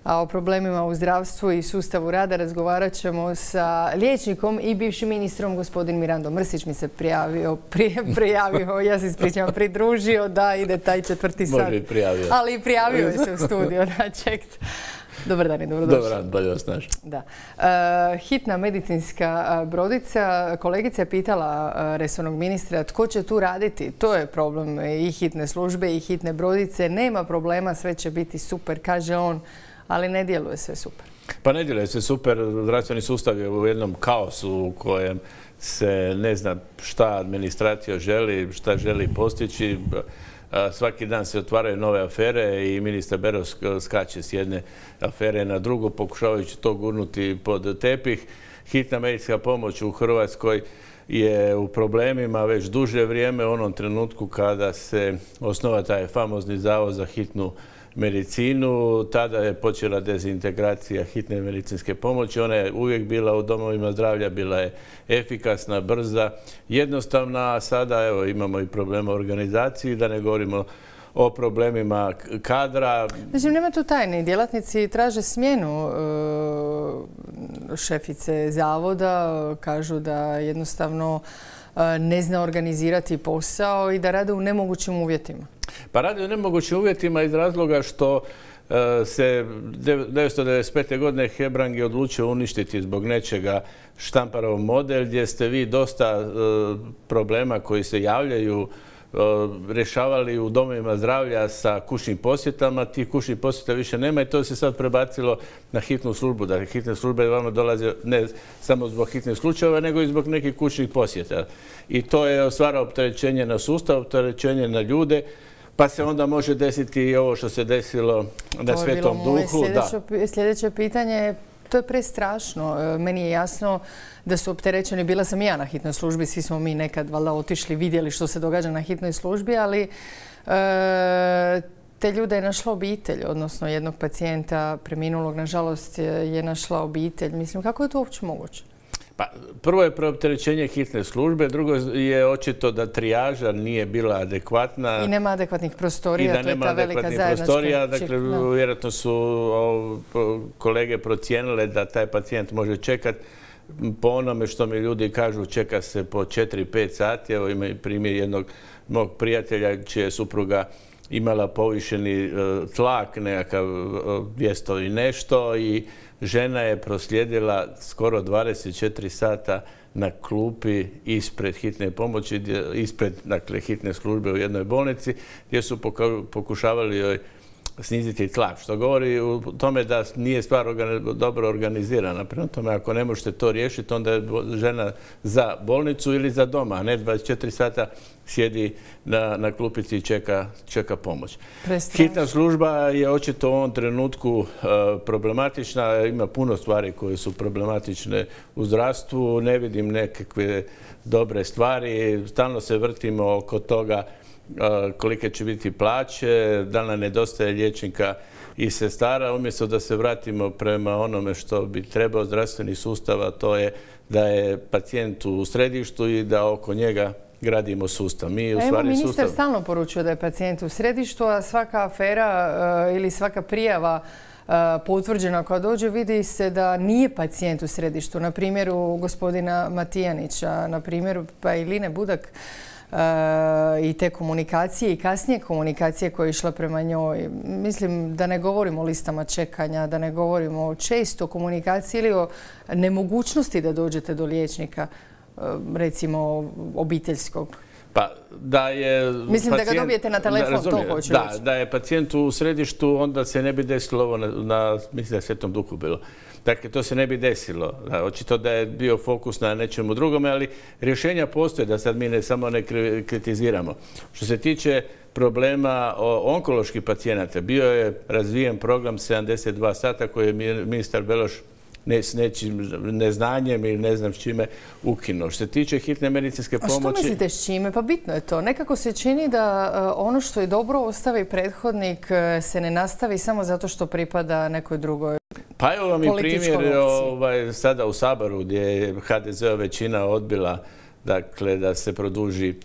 A o problemima u zdravstvu i sustavu rada razgovarat ćemo sa liječnikom i bivšim ministrom, gospodin Mirando Mrsić mi se prijavio, ja se ispričavam, pridružio da ide taj 4. sat. Može i prijavio. Ali i prijavio je se u studiju, da, čekt. Dobar dan i dobrodošli. Dobar dan, bolje vas našli. Da. Hitna medicinska brodica, kolegica je pitala resornog ministra tko će tu raditi. To je problem i hitne službe i hitne brodice. Nema problema, sve će biti super, kaže on, ali ne djeluje sve super. Pa ne djeluje sve super. Zdravstveni sustav je u jednom kaosu u kojem se ne zna šta administracija želi, šta želi postići. Svaki dan se otvaraju nove afere i ministar Beroš skače s jedne afere na drugu, pokušavajući to gurnuti pod tepih. Hitna medicinska pomoć u Hrvatskoj je u problemima već duže vrijeme, u onom trenutku kada se osnova taj famozni zavod za hitnu medicinu. Tada je počela dezintegracija hitne medicinske pomoći. Ona je uvijek bila u domovima zdravlja, bila je efikasna, brza, jednostavna, a sada evo, imamo i problema u organizaciji, da ne govorimo o problemima kadra. Znači, nema tu tajne. Djelatnici traže smjenu šefice zavoda, kažu da jednostavno ne zna organizirati posao i da rade u nemogućim uvjetima. Pa radi u nemogućim uvjetima iz razloga što se 1995. godine Hebrang je odlučio uništiti zbog nečega Štamparov model gdje ste vi dosta problema koji se javljaju rješavali u domovima zdravlja sa kućnim posjetama. Tih kućnih posjeta više nema i to se sad prebacilo na hitnu službu. Dakle, hitne službe vama dolaze ne samo zbog hitnih slučajeva, nego i zbog nekih kućnih posjeta. I to je stvara opterećenje na sustav, opterećenje na ljude, pa se onda može desiti i ovo što se desilo na Svetom Duhu. Sljedeće pitanje, to je prestrašno. Meni je jasno da su opterećeni. Bila sam i ja na hitnoj službi, svi smo mi nekad valjda otišli, vidjeli što se događa na hitnoj službi, ali te ljude je našla obitelj, odnosno jednog pacijenta preminulog, nažalost, je našla obitelj. Mislim, kako je to uopće moguće? Pa, prvo je preopterećenje hitne službe, drugo je očito da trijaža nije bila adekvatna. I nema adekvatnih prostorija, to je ta velika zajednička. Dakle, vjerojatno su kolege procijenile da taj pacijent može čekati. Po onome što mi ljudi kažu, čeka se po 4-5 sati. Evo ima i primjer jednog mog prijatelja čija je supruga imala povišeni tlak, nekakav 200 i nešto, i žena je proslijedila skoro 24 sata na klupi ispred hitne pomoći, ispred hitne službe u jednoj bolnici, gdje su pokušavali joj sniziti tlak, što govori o tome da nije stvar dobro organizirana. Prema tome, ako ne možete to riješiti, onda je žena za bolnicu ili za doma, a ne 24 sata sjedi na klupici i čeka pomoć. Hitna služba je očito u ovom trenutku problematična. Ima puno stvari koje su problematične u zdravstvu. Ne vidim nekakve dobre stvari. Stalno se vrtimo oko toga kolike će biti plaće, da nam nedostaje liječnika i sestara, umjesto da se vratimo prema onome što bi trebao zdravstveni sustav, a to je da je pacijent u središtu i da oko njega gradimo sustav. Ministar stalno poručuje da je pacijent u središtu, a svaka afera ili svaka prijava potvrđena koja dođe, vidi se da nije pacijent u središtu. Na primjeru gospodina Matijanića, na primjeru pa i Line Budak, i te komunikacije i kasnije komunikacije koja je išla prema njoj. Mislim da ne govorimo o listama čekanja, da ne govorimo o često komunikaciji ili o nemogućnosti da dođete do liječnika, recimo obiteljskog. Pa da je... Mislim da ga dobijete na telefon, to hoću reći. Da je pacijent u središtu, onda se ne bi desilo ovo mislim da je Svetom Duhu bilo. Dakle, to se ne bi desilo. Očito da je bio fokus na nečemu drugome, ali rješenja postoje, da sad mi ne samo ne kritiziramo. Što se tiče problema onkoloških pacijenata, bio je razvijen program 72 sata koji je ministar Beroš s nečim neznanjem ili ne znam s čime ukinuo. Što se tiče hitne medicinske pomoći... A što mislite s čime? Pa bitno je to. Nekako se čini da ono što je dobro ostavi prethodnik se ne nastavi samo zato što pripada nekoj drugoj političkoj opciji. Pa evo vam i primjer sada u Saboru gdje je HDZ-ova većina odbila dakle, da se produži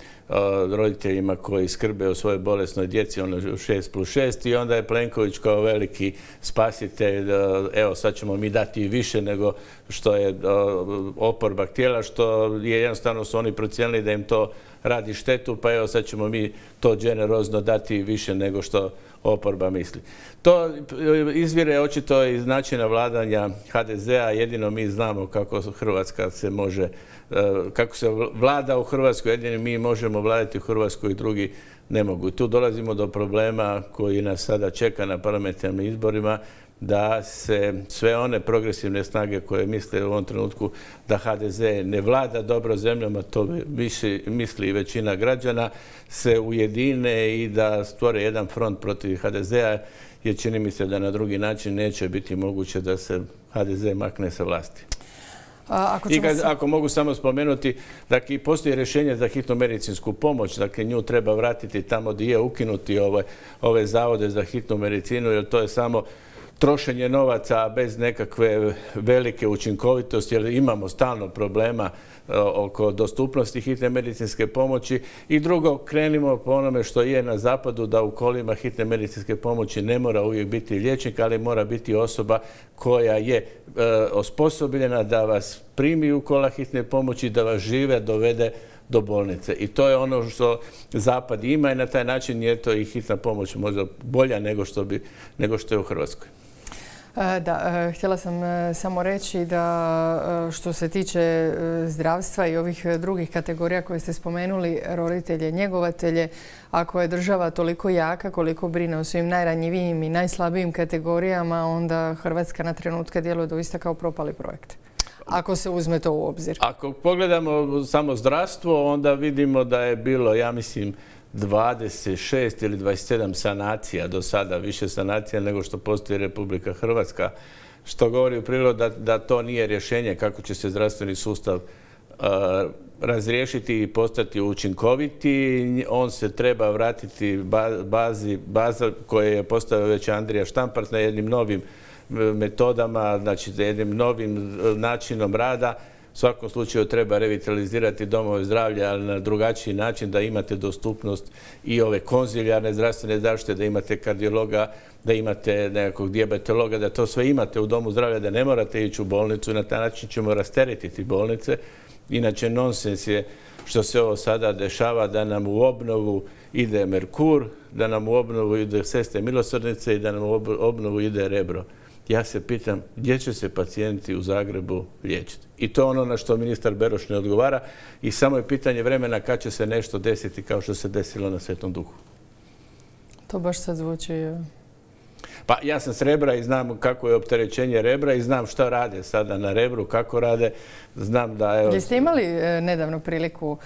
roditeljima koji skrbe o svojoj bolesnoj djeci, ono 6+6, i onda je Plenković kao veliki spasitelj, evo sad ćemo mi dati više nego što je oporba htjela, što je jednostavno su oni procijenili da im to radi štetu, pa evo sad ćemo mi to generozno dati više nego što oporba misli. To izvire očito iz načina vladanja HDZ-a, jedino mi znamo kako Hrvatska se može, kako se vlada u Hrvatskoj, jedino mi možemo vladati u Hrvatskoj i drugi ne mogu. I tu dolazimo do problema koji nas sada čeka na parlamentarnim izborima, da se sve one progresivne snage koje misle u ovom trenutku da HDZ ne vlada dobro zemljama, to misli većina građana, se ujedine i da stvore jedan front protiv HDZ-a, jer čini mi se da na drugi način neće biti moguće da se HDZ makne sa vlasti. Ako mogu samo spomenuti, dakle, postoji rješenje za hitnu medicinsku pomoć, dakle, nju treba vratiti tamo gdje je, ukinuti ove zavode za hitnu medicinu, jer to je samo trošenje novaca bez nekakve velike učinkovitosti, jer imamo stalno problema oko dostupnosti hitne medicinske pomoći. I drugo, krenimo po onome što je na zapadu, da u kolima hitne medicinske pomoći ne mora uvijek biti liječnik, ali mora biti osoba koja je osposobljena da vas primi u kola hitne pomoći, da vas žive dovede do bolnice. I to je ono što zapad ima i na taj način je to i hitna pomoć možda bolja nego što je u Hrvatskoj. Da, htjela sam samo reći da što se tiče zdravstva i ovih drugih kategorija koje ste spomenuli, roditelje, njegovatelje, ako je država toliko jaka koliko brine o svim najranjivijim i najslabijim kategorijama, onda Hrvatska na trenutke djeluje doista kao propali projekt. Ako se uzme to u obzir. Ako pogledamo samo zdravstvo, onda vidimo da je bilo, ja mislim, 26 ili 27 sanacija do sada, više sanacija nego što postoji Republika Hrvatska, što govori u prilog da to nije rješenje kako će se zdravstveni sustav razriješiti i postati učinkoviti. On se treba vratiti baza koje je postavio već Andrija Štampar na jednim novim metodama, znači jednim novim načinom rada. U svakom slučaju treba revitalizirati domove zdravlja, ali na drugačiji način, da imate dostupnost i ove konzilijarne zdravstvene zaštite, da imate kardiologa, da imate nekakvog dijabetologa, da to sve imate u domu zdravlja, da ne morate ići u bolnicu i na taj način ćemo rasteretiti bolnice. Inače, nonsens je što se ovo sada dešava, da nam u obnovu ide Merkur, da nam u obnovu ide Sestre milosrdnice i da nam u obnovu ide Rebro. Ja se pitam gdje će se pacijenti u Zagrebu liječiti. I to je ono na što ministar Beroš ne odgovara i samo je pitanje vremena kad će se nešto desiti kao što se desilo na Svetom Duhu. To baš sad zvuči... Pa ja sam s Rebra i znam kako je opterećenje Rebra i znam šta rade sada na Rebru, kako rade. Znam da... Jeste imali nedavno priliku,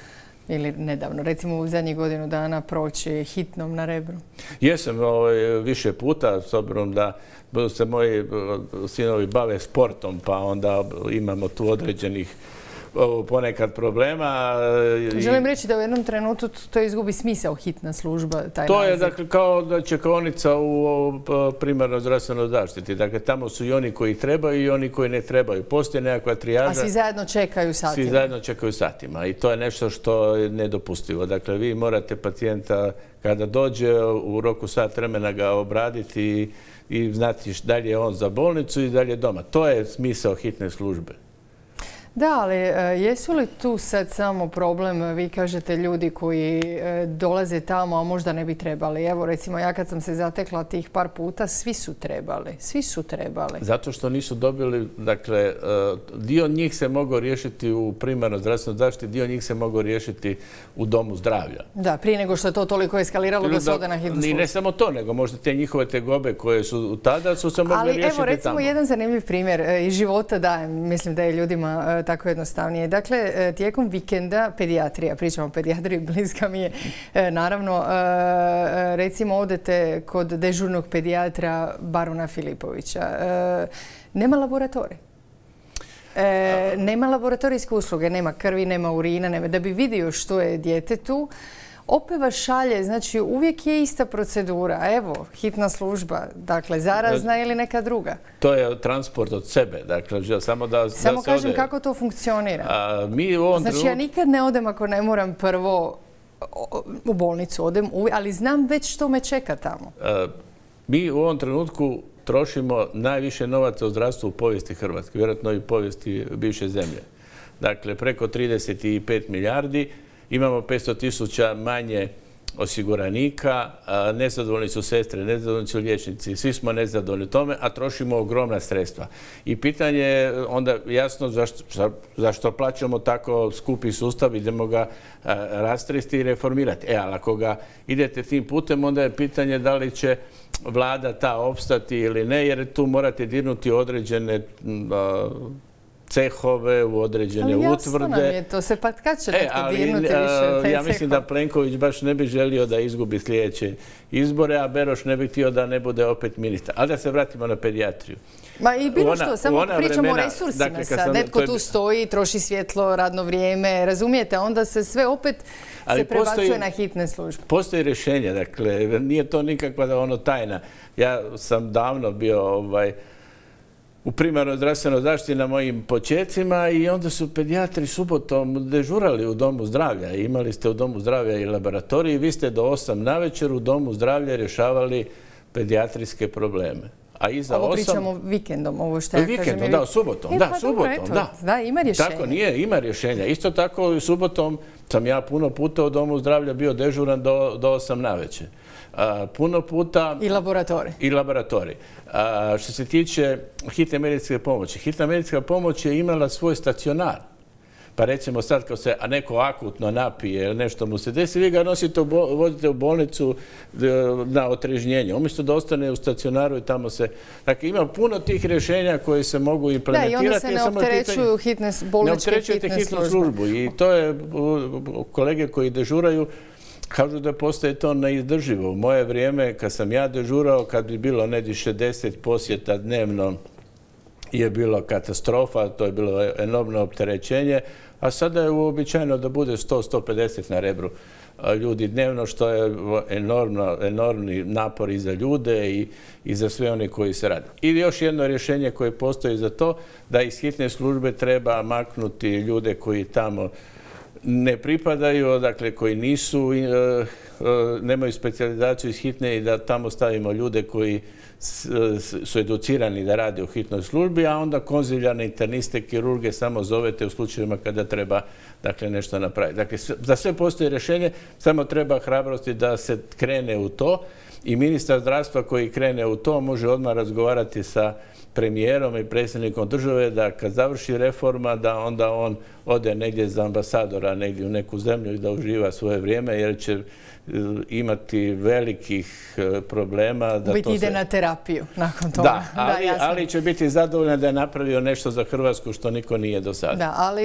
ili nedavno, recimo u zadnjih godinu dana, proći hitnom na Rebru? Jesam više puta, s obzirom da se moji sinovi bave sportom, pa onda imamo tu određenih ponekad problema. Želim reći da u jednom trenutku to izgubi smisao, hitna služba, taj to naziv. Je dakle kao da čekaonica u primarnoj zdravstvenoj zaštiti. Dakle, tamo su i oni koji trebaju i oni koji ne trebaju. Postoji nekakva trijaža. A svi zajedno čekaju satima. Svi zajedno čekaju satima i to je nešto što je nedopustivo. Dakle, vi morate pacijenta kada dođe u roku sat vremena ga obraditi i znati da li je on za bolnicu i da li je doma. To je smisao hitne službe. Da, ali jesu li tu sad samo problem, vi kažete, ljudi koji dolaze tamo, a možda ne bi trebali? Evo, recimo, ja kad sam se zatekla tih par puta, svi su trebali. Zato što nisu dobili, dakle, dio njih se mogao riješiti u primarnoj zdravstvenoj zaštiti, dio njih se mogao riješiti u domu zdravlja. Da, prije nego što je to toliko eskaliralo da se ode na hitnu službu. I ne samo to, nego možda te njihove tegobe koje su tada su se mogli riješiti tamo. Ali evo, recimo, jedan zanimljiv primjer iz života, da, mislim da je ljudima tako jednostavnije. Dakle, tijekom vikenda pedijatrija, pričamo o pedijatriji, bliska mi je, naravno, recimo odete kod dežurnog pedijatra Baruna Filipovića. Nema laboratorij. Nema laboratorijske usluge, nema krvi, nema urina, da bi vidio što je djetetu. Opet vas šalje, znači uvijek je ista procedura. Evo, hitna služba, dakle, zarazna ili neka druga. To je transport od sebe, dakle, samo da se ode. Samo kažem kako to funkcionira. Mi u ovom znači, ja nikad ne odem ako ne moram prvo u bolnicu, odem, ali znam već što me čeka tamo. Mi u ovom trenutku trošimo najviše novaca u zdravstvu u povijesti Hrvatske, vjerojatno i u povijesti bivše zemlje. Dakle, preko 35 milijardi, imamo 500.000 manje osiguranika, nezadovoljni su sestre, nezadovoljni su liječnici, svi smo nezadovoljni tome, a trošimo ogromna sredstva. I pitanje je onda jasno zašto plaćamo tako skupi sustav, idemo ga rastresti i reformirati. Ali ako ga idete tim putem, onda je pitanje da li će vlada ta opstati ili ne, jer tu morate dirnuti određene cehove, u određene utvrde. Ali jasno nam je to, se pa kad će netko dirnuti više te ja mislim da Plenković baš ne bi želio da izgubi sljedeće izbore, a Beroš ne bi htio da ne bude opet ministar. Ali da se vratimo na pedijatriju. Ma i bilo što, samo pričamo o resursima sad. Netko tu stoji, troši svjetlo, radno vrijeme, razumijete? Onda se sve opet se prebacuje na hitne službe. Postoji rješenje, dakle, nije to nikakva tajna. Ja sam davno bio u primarnoj zdravstvenoj zaštiti na mojim počecima i onda su pedijatri subotom dežurali u domu zdravlja. Imali ste u domu zdravlja i laboratoriji, vi ste do 8 navečer u domu zdravlja rješavali pedijatrijske probleme. A iza ovo pričamo vikendom, ovo što ja kažem. Vikendom, da, subotom. Da, subotom, da. Da, ima rješenja. Tako nije, ima rješenja. Isto tako subotom sam ja puno puta u domu zdravlja bio dežuran do 8 navečer. Puno puta... I laboratorij. Što se tiče hitne medicinske pomoći. Hitna medicinska pomoć je imala svoj stacionar. Pa recimo sad kad se neko akutno napije ili nešto mu se desi, vi ga nosite, vozite u bolnicu na otrežnjenje. Umjesto da ostane u stacionaru i tamo se... Dakle, ima puno tih rješenja koje se mogu implementirati. Da, i onda se ne opterećuju bolničke hitne službu. I to je, kolege koji dežuraju, kažu da postaje to neizdrživo. U moje vrijeme, kad sam ja dežurao, kad bi bilo negdje 60 posjeta dnevno, je bilo katastrofa, to je bilo enormno opterećenje, a sada je uobičajeno da bude 100-150 na Rebru ljudi dnevno, što je enormni napor i za ljude i za sve one koji se rade. I još jedno rješenje koje postoji za to, da iz hitne službe treba maknuti ljude koji tamo ne pripadaju, dakle koji nemaju specijalizaciju iz hitne i da tamo stavimo ljude koji su educirani da rade u hitnoj službi, a onda konziljane, interniste, kirurge samo zovete u slučajevima kada treba nešto napraviti. Dakle, za sve postoji rješenje, samo treba hrabrosti da se krene u to i ministar zdravstva koji krene u to može odmah razgovarati sa premijerom i predsjednikom države da kad završi reforma da onda on ode negdje za ambasadora, negdje u neku zemlju i da uživa svoje vrijeme jer će imati velikih problema. Biti ide na terapiju nakon toga. Da, ali će biti zadovoljan da je napravio nešto za Hrvatsku što niko nije do sada. Da, ali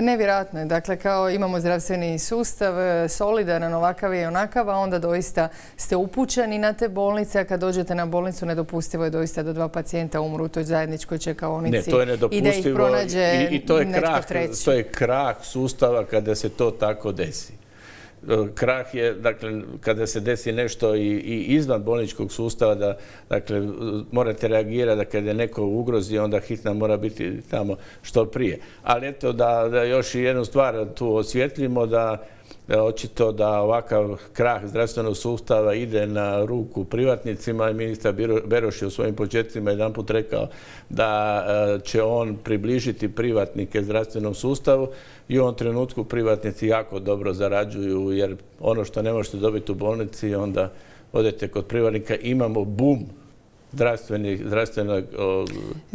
nevjerojatno je. Dakle, kao imamo zdravstveni sustav, solidaran, ovakav i onakav, a onda doista ste upućeni na te bolnice, a kad dođete na bolnicu nedopustivo je doista da 2 pacijenta umru u toj zajedničkoj čekaonici. Ne, to je nedopustivo. I da ih pronađe netko treći. To je krah sustava kada se to tako desi. Krah je, dakle, kada se desi nešto i izvan bolničkog sustava, dakle, morate reagirati da kada je neko u ugrozi, onda hitna mora biti tamo što prije. Ali eto, da još jednu stvar tu osvjetljimo, da očito da ovakav krah zdravstvenog sustava ide na ruku privatnicima i ministar Beroš je u svojim početcima jedanput rekao da će on približiti privatnike zdravstvenom sustavu i u ovom trenutku privatnici jako dobro zarađuju jer ono što ne možete dobiti u bolnici onda odete kod privatnika. Imamo boom zdravstvenih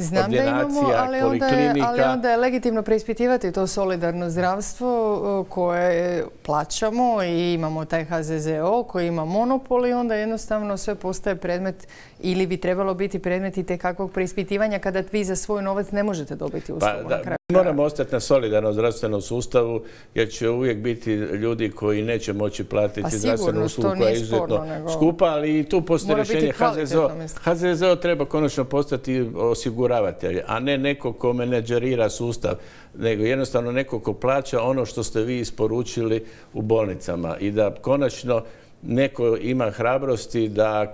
ordinacija, poliklinika. Ali onda je legitimno preispitivati to solidarno zdravstvo koje plaćamo i imamo taj HZZO koji ima monopol i onda jednostavno sve postaje predmet ili bi trebalo biti predmet itekakvog preispitivanja kada vi za svoj novac ne možete dobiti uslugu na kraju. Moramo ostati na solidarnom zdravstvenom sustavu jer će uvijek biti ljudi koji neće moći platiti zdravstvenu uslugu koja je izuzetno skupa, ali i tu postoji rješenje HZZO treba konačno postati osiguravatelj, a ne neko ko menadžerira sustav, nego jednostavno neko ko plaća ono što ste vi isporučili u bolnicama i da konačno neko ima hrabrosti da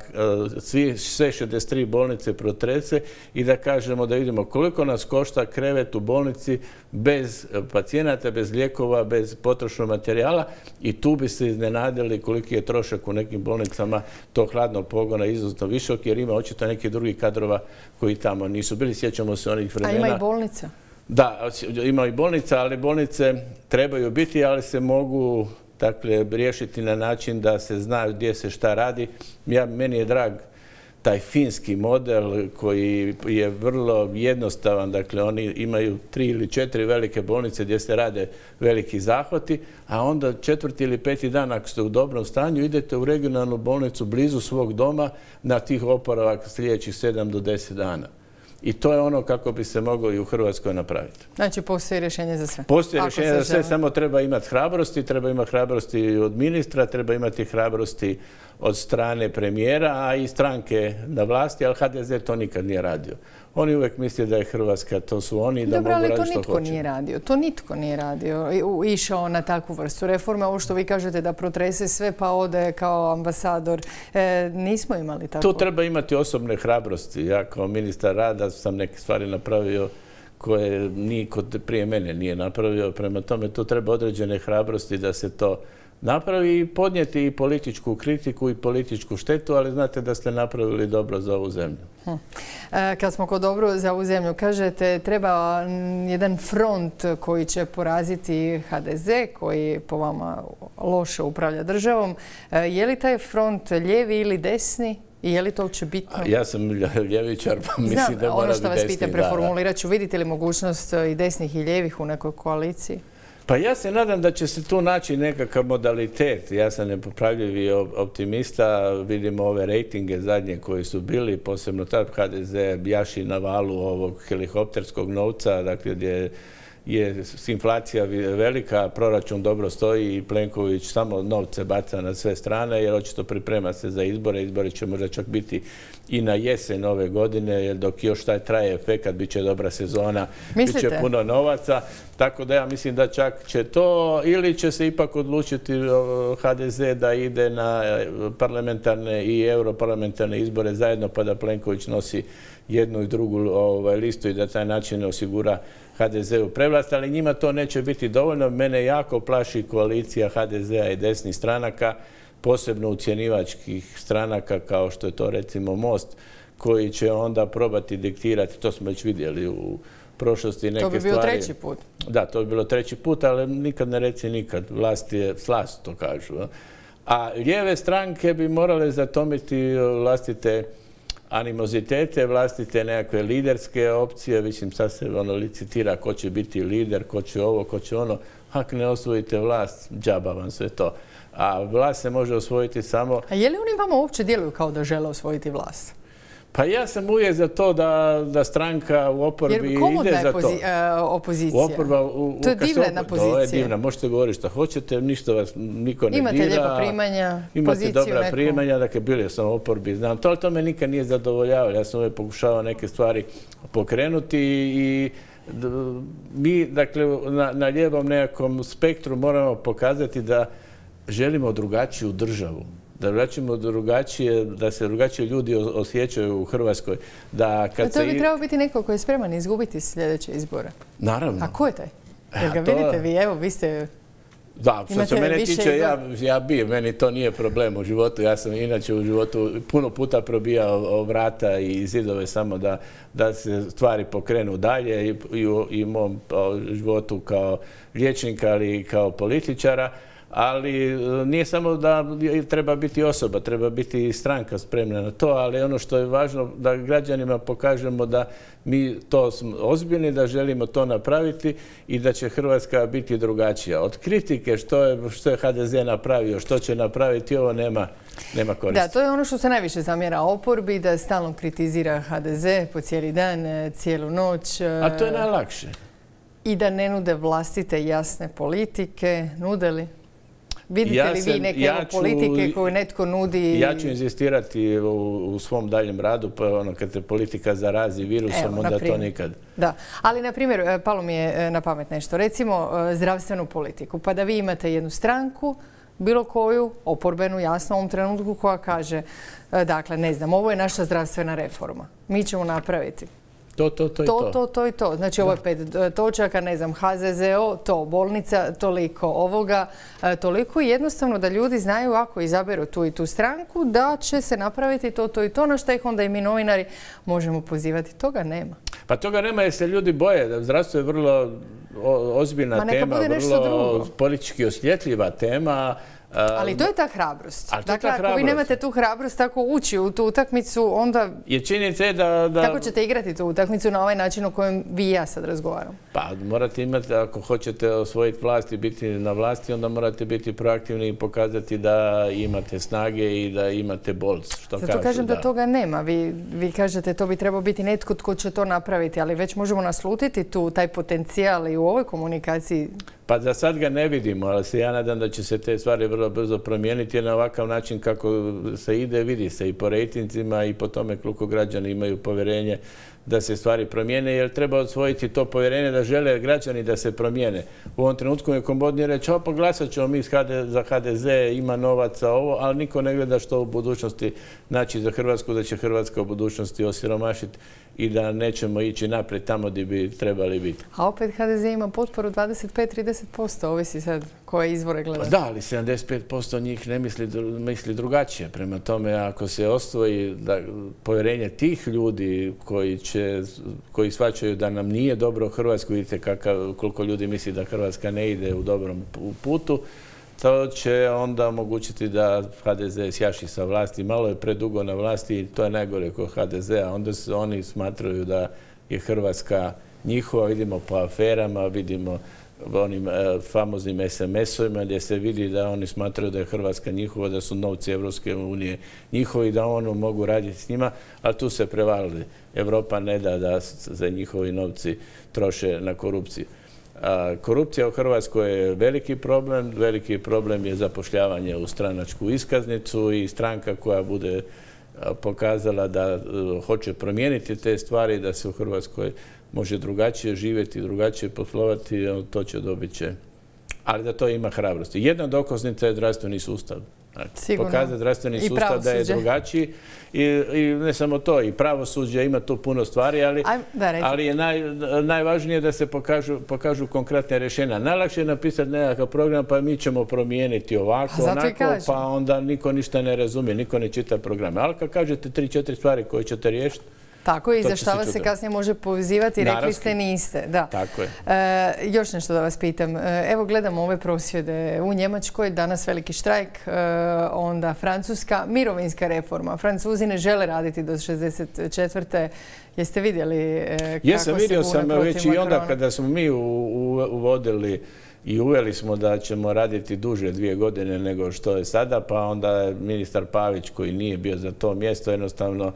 sve 63 bolnice protrese i da kažemo da vidimo koliko nas košta krevet u bolnici bez pacijenata, bez lijekova, bez potrošnog materijala i tu bi se iznenadili koliki je trošak u nekim bolnicama tog hladnog pogona izuzetno visok jer ima očito nekih drugih kadrova koji tamo nisu bili. Sjećamo se onih vremena. A ima i bolnica? Da, ima i bolnica, ali bolnice trebaju biti, ali se mogu riješiti na način da se zna gdje se šta radi. Meni je drag taj finski model koji je vrlo jednostavan. Dakle, oni imaju 3 ili 4 velike bolnice gdje se rade veliki zahvati, a onda 4. ili 5. dan ako ste u dobrom stanju idete u regionalnu bolnicu blizu svog doma na tih oporavak sljedećih 7 do 10 dana. I to je ono kako bi se moglo i u Hrvatskoj napraviti. Znači, postoji rješenje za sve? Postoji rješenje za sve, samo treba imati hrabrosti od ministra, treba imati hrabrosti od strane premijera, a i stranke na vlasti, ali HDZ to nikad nije radio. Oni uvijek misle da je Hrvatska, to su oni, da mogu raditi što hoće. Dobro, ali to nitko nije radio. Išao na takvu vrstu reforme. Ovo što vi kažete da protrese sve pa ode kao ambasador. Nismo imali tako. Tu treba imati osobne hrabrosti. Ja kao ministar rada sam neke stvari napravio koje niko prije mene nije napravio. Prema tome, tu treba određene hrabrosti da se to napravi i podnijeti i političku kritiku i političku štetu, ali znate da ste napravili dobro za ovu zemlju. Kad smo kod dobro za ovu zemlju, kažete treba jedan front koji će poraziti HDZ, koji po vama loše upravlja državom. Je li taj front lijevi ili desni? I je li to uopće bitno? Ja sam ljevičar, pa mislim da mora biti desni. Ono što vas pitam, preformulirat ću. Vidite li mogućnost i desnih i lijevih u nekoj koaliciji? Pa ja se nadam da će se tu naći nekakav modalitet. Ja sam nepopravljivi optimista. Vidimo ove rejtinge zadnje koji su bili, posebno tad HDZ jaši na valu ovog helikopterskog novca, dakle gdje je inflacija velika, proračun dobro stoji i Plenković samo novce baca na sve strane jer očito priprema se za izbore. Izbori će možda čak biti i na jesen ove godine, jer dok još taj traje efekat, bit će dobra sezona, bit će puno novaca. Tako da ja mislim da čak će to, ili će se ipak odlučiti HDZ da ide na parlamentarne i europarlamentarne izbore zajedno, pa da Plenković nosi jednu i drugu listu i da taj način osigura HDZ-u prevlast, ali njima to neće biti dovoljno. Mene jako plaši koalicija HDZ-a i desnih stranaka, posebno ucjenivačkih stranaka kao što je to recimo Most, koji će onda probati diktirati, to smo već vidjeli u prošlosti neke stvari. To bi bio treći put. Da, to bi bilo treći put, ali nikad ne reci nikad. Vlast je slast, to kažu. A lijeve stranke bi morale zatomiti vlastite animozitete, vlastite nekakve liderske opcije. Mislim, sad se licitira ko će biti lider, ko će ovo, ko će ono. Ako ne osvojite vlast, džaba vam sve to. A vlast se može osvojiti samo... A je li oni vama uopće djeluju kao da žele osvojiti vlast? Pa ja sam uvijek za to da stranka u oporbi ide za to. Jer komodna je opozicija. To je divna pozicija. To je divna. Možete govoriti što hoćete, ništa vas niko ne dira. Imate lijepa primanja, imate dobra primanja, dakle bili sam u oporbi, znam. To me nikad nije zadovoljavalo. Ja sam uvijek pokušavao neke stvari pokrenuti i mi, dakle, na lijevom nekakvom spektru moramo pokazati da želimo drugačiju državu. Da se drugačije ljudi osjećaju u Hrvatskoj. To bi trebao biti neko koji je spreman izgubiti sljedeće izbore. Naravno. A ko je taj? Jer ga vidite vi, evo, vi ste... Da, što se mene tiče, ja bi, meni to nije problem u životu. Ja sam inače u životu puno puta probijao vrata i zidove samo da se stvari pokrenu dalje i u mom životu kao liječnika, ali i kao političara. Ali nije samo da treba biti osoba, treba biti i stranka spremna na to, ali ono što je važno da građanima pokažemo da mi to smo ozbiljni, da želimo to napraviti i da će Hrvatska biti drugačija. Od kritike što je HDZ napravio, što će napraviti, ovo nema koristi. Da, to je ono što se najviše zamjera oporbi, da stalno kritizira HDZ po cijeli dan, cijelu noć. A to je najlakše. I da ne nude vlastite jasne politike. Nude li? Vidite li vi neke politike koje netko nudi? Ja ću inzistirati u svom daljem radu, pa kad se politika zarazi virusom, onda to nikad. Da, ali na primjer, palo mi je na pamet nešto. Recimo zdravstvenu politiku, pa da vi imate jednu stranku bilo koju oporbenu, jasno u ovom trenutku, koja kaže, dakle, ne znam, ovo je naša zdravstvena reforma. Mi ćemo napraviti to i to. Znači, ovo je 5 točaka, ne znam, HZZO, to, bolnica, toliko, ovoga, toliko. I jednostavno da ljudi znaju, ako izaberu tu i tu stranku, da će se napraviti to i to, na što ih onda i mi novinari možemo pozivati. Toga nema. Pa toga nema jer se ljudi boje. Zdravstvo je vrlo ozbiljna tema, vrlo politički osjetljiva tema. Ali to je ta hrabrost. Dakle, ako vi nemate tu hrabrost tako ući u tu utakmicu, onda... Jer činjenica je da... Kako ćete igrati tu utakmicu na ovaj način o kojem vi i ja sad razgovaram? Pa morate imati, ako hoćete osvojiti vlast i biti na vlasti, onda morate biti proaktivni i pokazati da imate snage i da imate bolst. Zato kažem da toga nema. Vi kažete to bi trebao biti netko tko će to napraviti, ali već možemo naslutiti tu taj potencijal i u ovoj komunikaciji. Pa za sad ga ne vidimo, ali se ja nadam da će se te stvari vrlo brzo promijeniti, jer na ovakav način kako se ide, vidi se i po rejtinzima i po tome koliko građani imaju povjerenje da se stvari promijene, jer treba osvojiti to povjerenje da žele građani da se promijene. U ovom trenutku je komodnije reći, pa glasat ćemo mi za HDZ, ima novaca, ovo, ali niko ne gleda što u budućnosti znači za Hrvatsku, da će Hrvatska u budućnosti osiromašiti i da nećemo ići naprijed tamo gdje bi trebali biti. A opet HDZ ima potporu 25-30%, ovisi sad koje izvore gledati. Da, ali 75% njih ne misli drugačije. Prema tome, ako se osvoji povjerenje tih ljudi koji shvaćaju da nam nije dobro u Hrvatskoj, vidite koliko ljudi misli da Hrvatska ne ide u dobrom putu, to će onda omogućiti da HDZ sjaši sa vlasti. Malo je predugo na vlasti i to je najgore kod HDZ-a. Onda oni smatraju da je Hrvatska njihova. Vidimo po aferama, vidimo onim famoznim SMS-ovima gdje se vidi da oni smatraju da je Hrvatska njihova, da su novci Evropske unije njihovi, da ono mogu raditi s njima, ali tu se prevalili. Evropa ne da se njihovi novci troše na korupciju. Korupcija u Hrvatskoj je veliki problem je zapošljavanje u stranačku iskaznicu i stranka koja bude pokazala da hoće promijeniti te stvari, da se u Hrvatskoj može drugačije živjeti, drugačije poslovati, to će dobit će. Ali da to ima hrabrosti. Jedna dokaznica je zdravstveni sustav. Pokazati zdravstveni sustav da je drugačiji i ne samo to, i pravosuđe ima tu puno stvari, ali je najvažnije da se pokažu konkretne rješenja. Najlakše je napisati nekakav program, pa mi ćemo promijeniti ovako, onako, pa onda niko ništa ne razumije, niko ne čita programe. Ali kad kažete 3-4 stvari koje ćete riješiti, tako i za šta vas se kasnije može pozivati, rekli ste niste. Da. Tako je. Još nešto da vas pitam. Evo gledamo ove prosvjede u Njemačkoj, danas veliki štrajk, onda Francuska, mirovinska reforma. Francuzi ne žele raditi do 64. Jeste vidjeli kako se bune protiv Makrona? Jesam, vidio sam već i onda kada smo mi uvodili i uveli smo da ćemo raditi duže 2 godine nego što je sada, pa onda je ministar Pavić, koji nije bio za to mjesto, jednostavno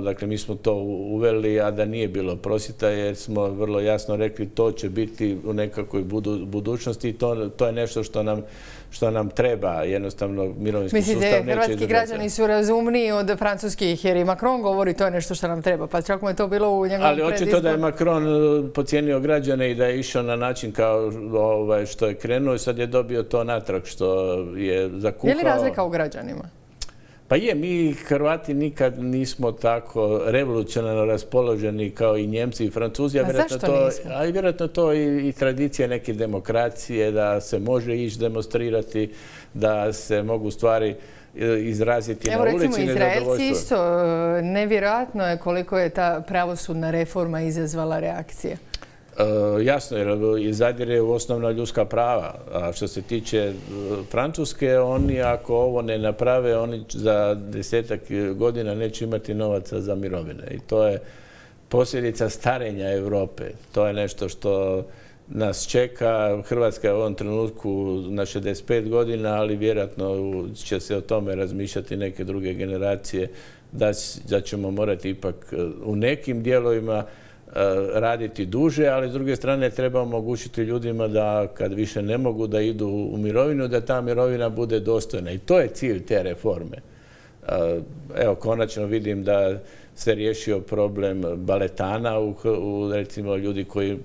dakle, mi smo to uveli, a da nije bilo prosvjeta, jer smo vrlo jasno rekli to će biti u nekakvoj budućnosti i to je nešto što nam treba. Jednostavno, mirovinski sustav neće izdržati. Hrvatski građani su razumniji od francuskih, jer i Macron govori to je nešto što nam treba. Pa čak mu je to bilo u njegovom predizboru. Ali očito da je Macron podcijenio građane i da je išao na način kao što je krenuo i sad je dobio to natrag što je zakuhao. Je li razlika u građanima? Pa je, mi Hrvati nikad nismo tako revolucionarno raspoloženi kao i Njemci i Francuzi. A zašto nismo? A vjerojatno to i tradicija neke demokracije, da se može ići demonstrirati, da se mogu stvari izraziti na ulici. Evo recimo Izraelci isto, nevjerojatno je koliko je ta pravosudna reforma izazvala reakcije. Jasno, jer zadire u osnovna ljudska prava. A što se tiče Francuske, oni ako ovo ne naprave, oni za 10 godina neće imati novaca za mirovine. I to je posljedica starenja Europe. To je nešto što nas čeka. Hrvatska je u ovom trenutku na 65 godina, ali vjerojatno će se o tome razmišljati neke druge generacije, da ćemo morati ipak u nekim dijelovima raditi duže, ali s druge strane treba omogućiti ljudima da kad više ne mogu da idu u mirovinu, da ta mirovina bude dostojna. I to je cilj te reforme. Evo, konačno vidim da se riješio problem baletana, recimo ljudi koji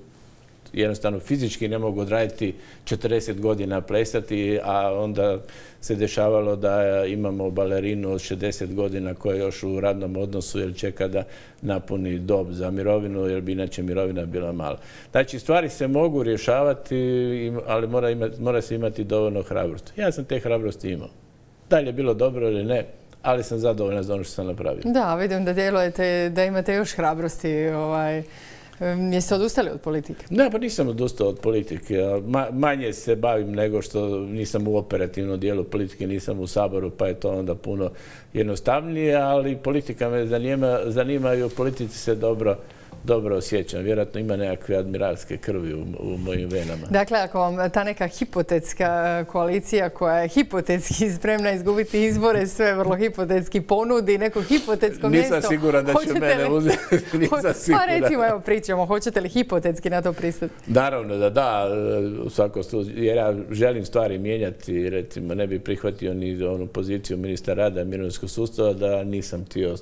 jednostavno fizički ne mogu odraditi 40 godina plesati, a onda se dešavalo da imamo balerinu od 60 godina koja je još u radnom odnosu jer čeka da napuni dob za mirovinu jer bi inače mirovina bila mala. Znači, stvari se mogu rješavati, ali mora se imati dovoljno hrabrosti. Ja sam te hrabrosti imao. Da li je bilo dobro ili ne, ali sam zadovoljan za ono što sam napravio. Da, vidim da djelujete, da imate još hrabrosti. Jeste odustali od politike? Ne, pa nisam odustao od politike. Manje se bavim nego što nisam u operativnom dijelu politike, nisam u Saboru, pa je to onda puno jednostavnije, ali politika me zanima i u politici se dobro osjećam. Vjerojatno ima nekakve admiralske krvi u mojim venama. Dakle, ako vam ta neka hipotetska koalicija koja je hipotetski spremna izgubiti izbore, sve vrlo hipotetski ponudi neko hipotetsko mjesto... Nisam siguran da će mene uzeti. Pa recimo, evo pričamo, hoćete li hipotetski na to pristati? Naravno da, u svakom slučaju, jer ja želim stvari mijenjati, recimo ne bih prihvatio ni onu poziciju ministra rada i mirovinskog sustava da nisam htio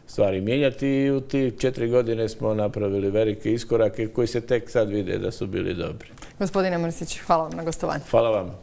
stvari mijenjati i u tih 4 godine smo napravili velike iskorake koji se tek sad vide da su bili dobri. Gospodine Mrsić, hvala vam na gostovanju. Hvala vam.